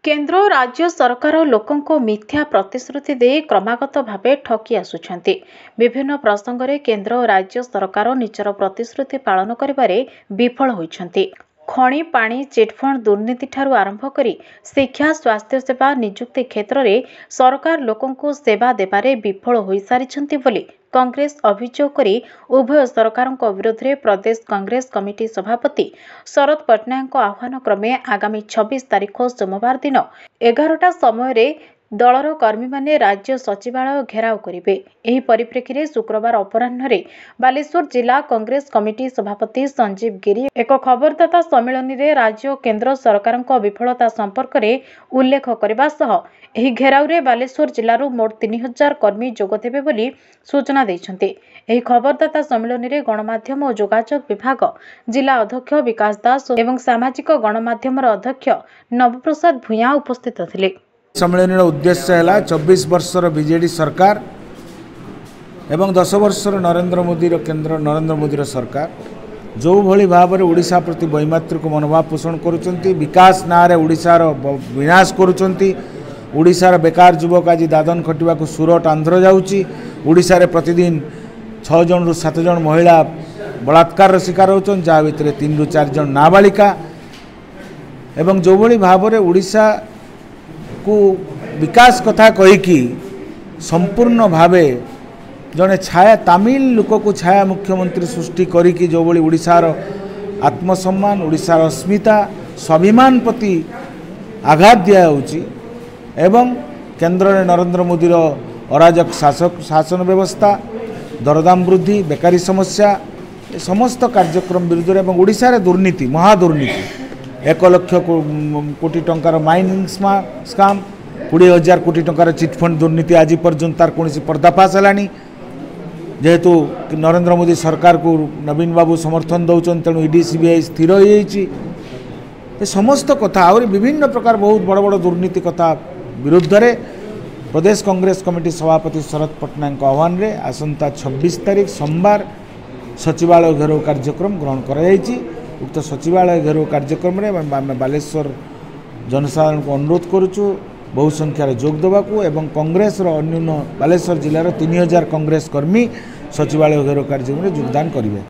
କେନ୍ଦ୍ର ଓ ରାଜ୍ୟ ସରକାର ଲୋକଙ୍କୁ ମିଥ୍ୟା ପ୍ରତିଶ୍ରୁତି ଦେଇ କ୍ରମାଗତ ଭାବେ ଠକି ଆସୁଛନ୍ତି। ବିଭିନ୍ନ ପ୍ରସଙ୍ଗରେ କେନ୍ଦ୍ର ଓ ରାଜ୍ୟ ସରକାର ନିଜର ପ୍ରତିଶ୍ରୁତି ପାଳନ କରିବାରେ ବିଫଳ ହୋଇଛନ୍ତି। ଖଣି, ପାଣି, ଚିଟ୍ଫଣ୍ଡ ଦୁର୍ନୀତିଠାରୁ ଆରମ୍ଭ କରି ଶିକ୍ଷା, ସ୍ୱାସ୍ଥ୍ୟସେବା, ନିଯୁକ୍ତି କ୍ଷେତ୍ରରେ ସରକାର ଲୋକଙ୍କୁ ସେବା ଦେବାରେ ବିଫଳ ହୋଇସାରିଛନ୍ତି ବୋଲି କଂଗ୍ରେସ ଅଭିଯୋଗ କରି ଉଭୟ ସରକାରଙ୍କ ବିରୋଧରେ ପ୍ରଦେଶ କଂଗ୍ରେସ କମିଟି ସଭାପତି ଶରତ ପଟ୍ଟନାୟକଙ୍କ ଆହ୍ୱାନ କ୍ରମେ ଆଗାମୀ 26 ତାରିଖ ସୋମବାର ଦିନ 11ଟା ସମୟରେ ଦଳର କର୍ମୀମାନେ ରାଜ୍ୟ ସଚିବାଳୟ ଘେରାଉ କରିବେ। ଏହି ପରିପ୍ରେକ୍ଷୀରେ ଶୁକ୍ରବାର ଅପରାହ୍ନରେ ବାଲେଶ୍ୱର ଜିଲ୍ଲା କଂଗ୍ରେସ କମିଟି ସଭାପତି ସଞ୍ଜୀବ ଗିରି ଏକ ଖବରଦାତା ସମ୍ମିଳନୀରେ ରାଜ୍ୟ ଓ କେନ୍ଦ୍ର ସରକାରଙ୍କ ବିଫଳତା ସମ୍ପର୍କରେ ଉଲ୍ଲେଖ କରିବା ସହ ଏହି ଘେରାଉରେ ବାଲେଶ୍ୱର ଜିଲ୍ଲାରୁ ମୋଟ 3000 କର୍ମୀ ଯୋଗଦେବେ ବୋଲି ସୂଚନା ଦେଇଛନ୍ତି। ଏହି ଖବରଦାତା ସମ୍ମିଳନୀରେ ଗଣମାଧ୍ୟମ ଓ ଯୋଗାଯୋଗ ବିଭାଗ ଜିଲ୍ଲା ଅଧ୍ୟକ୍ଷ ବିକାଶ ଦାସ ଏବଂ ସାମାଜିକ ଗଣମାଧ୍ୟମର ଅଧ୍ୟକ୍ଷ ନବପ୍ରସାଦ ଭୂୟାଁ ଉପସ୍ଥିତ ଥିଲେ। ସମ୍ମିଳନୀର ଉଦ୍ଦେଶ୍ୟ ହେଲା 24 ବର୍ଷର ବିଜେଡ଼ି ସରକାର ଏବଂ 10 ବର୍ଷର ନରେନ୍ଦ୍ର ମୋଦିର କେନ୍ଦ୍ର ନରେନ୍ଦ୍ର ମୋଦିର ସରକାର ଯେଉଁଭଳି ଭାବରେ ଓଡ଼ିଶା ପ୍ରତି ବୈମାତୃକ ମନୋଭାବ ପୋଷଣ କରୁଛନ୍ତି, ବିକାଶ ନାଁରେ ଓଡ଼ିଶାର ବିନାଶ କରୁଛନ୍ତି। ଓଡ଼ିଶାର ବେକାର ଯୁବକ ଆଜି ଦାଦନ ଖଟିବାକୁ ସୁରଟ, ଆନ୍ଧ୍ର ଯାଉଛି। ଓଡ଼ିଶାରେ ପ୍ରତିଦିନ 6 ଜଣରୁ 7 ଜଣ ମହିଳା ବଳାତ୍କାରର ଶିକାର ହେଉଛନ୍ତି, ଯାହା ଭିତରେ 3ରୁ 4 ଜଣ ନାବାଳିକା। ଏବଂ ଯେଉଁଭଳି ଭାବରେ ଓଡ଼ିଶାକୁ ବିକାଶ କଥା କହିକି ସମ୍ପୂର୍ଣ୍ଣ ଭାବେ ଜଣେ ଛାୟା ତାମିଲ ଲୋକକୁ ଛାୟା ମୁଖ୍ୟମନ୍ତ୍ରୀ ସୃଷ୍ଟି କରିକି ଯେଉଁଭଳି ଓଡ଼ିଶାର ଆତ୍ମସମ୍ମାନ, ଓଡ଼ିଶାର ଅସ୍ମିତା, ସ୍ୱାଭିମାନ ପ୍ରତି ଆଘାତ ଦିଆହେଉଛି ଏବଂ କେନ୍ଦ୍ରରେ ନରେନ୍ଦ୍ର ମୋଦିର ଅରାଜକ ଶାସନ ବ୍ୟବସ୍ଥା, ଦରଦାମ ବୃଦ୍ଧି, ବେକାରୀ ସମସ୍ୟା, ଏ ସମସ୍ତ କାର୍ଯ୍ୟକ୍ରମ ବିରୁଦ୍ଧରେ ଏବଂ ଓଡ଼ିଶାରେ ଦୁର୍ନୀତି, ମହାଦୁର୍ନୀତି, 1 ଲକ୍ଷ କୋଟି ଟଙ୍କାର ମାଇନିଂ ସ୍କାମ୍, 20,000 କୋଟି ଟଙ୍କାର ଚିଟ୍ଫଣ୍ଡ ଦୁର୍ନୀତି ଆଜି ପର୍ଯ୍ୟନ୍ତ ତାର କୌଣସି ପର୍ଦ୍ଦାଫାଶ ହେଲାନି। ଯେହେତୁ ନରେନ୍ଦ୍ର ମୋଦି ସରକାରକୁ ନବୀନ ବାବୁ ସମର୍ଥନ ଦେଉଛନ୍ତି, ତେଣୁ ଇଡି ସିବିଆଇ ସ୍ଥିର ହୋଇଯାଇଛି। ଏ ସମସ୍ତ କଥା ଆହୁରି ବିଭିନ୍ନ ପ୍ରକାର ବହୁତ ବଡ଼ ବଡ଼ ଦୁର୍ନୀତି କଥା ବିରୁଦ୍ଧରେ ପ୍ରଦେଶ କଂଗ୍ରେସ କମିଟି ସଭାପତି ଶରତ ପଟ୍ଟନାୟକଙ୍କ ଆହ୍ୱାନରେ ଆସନ୍ତା 26 ତାରିଖ ସୋମବାର ସଚିବାଳୟ ଘେରାଉ କାର୍ଯ୍ୟକ୍ରମ ଗ୍ରହଣ କରାଯାଇଛି। ଉକ୍ତ ସଚିବାଳୟ ଘେରାଉ କାର୍ଯ୍ୟକ୍ରମରେ ଆମେ ବାଲେଶ୍ୱର ଜନସାଧାରଣଙ୍କୁ ଅନୁରୋଧ କରୁଛୁ ବହୁ ସଂଖ୍ୟାରେ ଯୋଗ ଦେବାକୁ ଏବଂ କଂଗ୍ରେସର ଅନ୍ୟୁନ ବାଲେଶ୍ୱର ଜିଲ୍ଲାର 3000 କଂଗ୍ରେସ କର୍ମୀ ସଚିବାଳୟ ଘେରାଉ କାର୍ଯ୍ୟକ୍ରମରେ ଯୋଗଦାନ କରିବେ।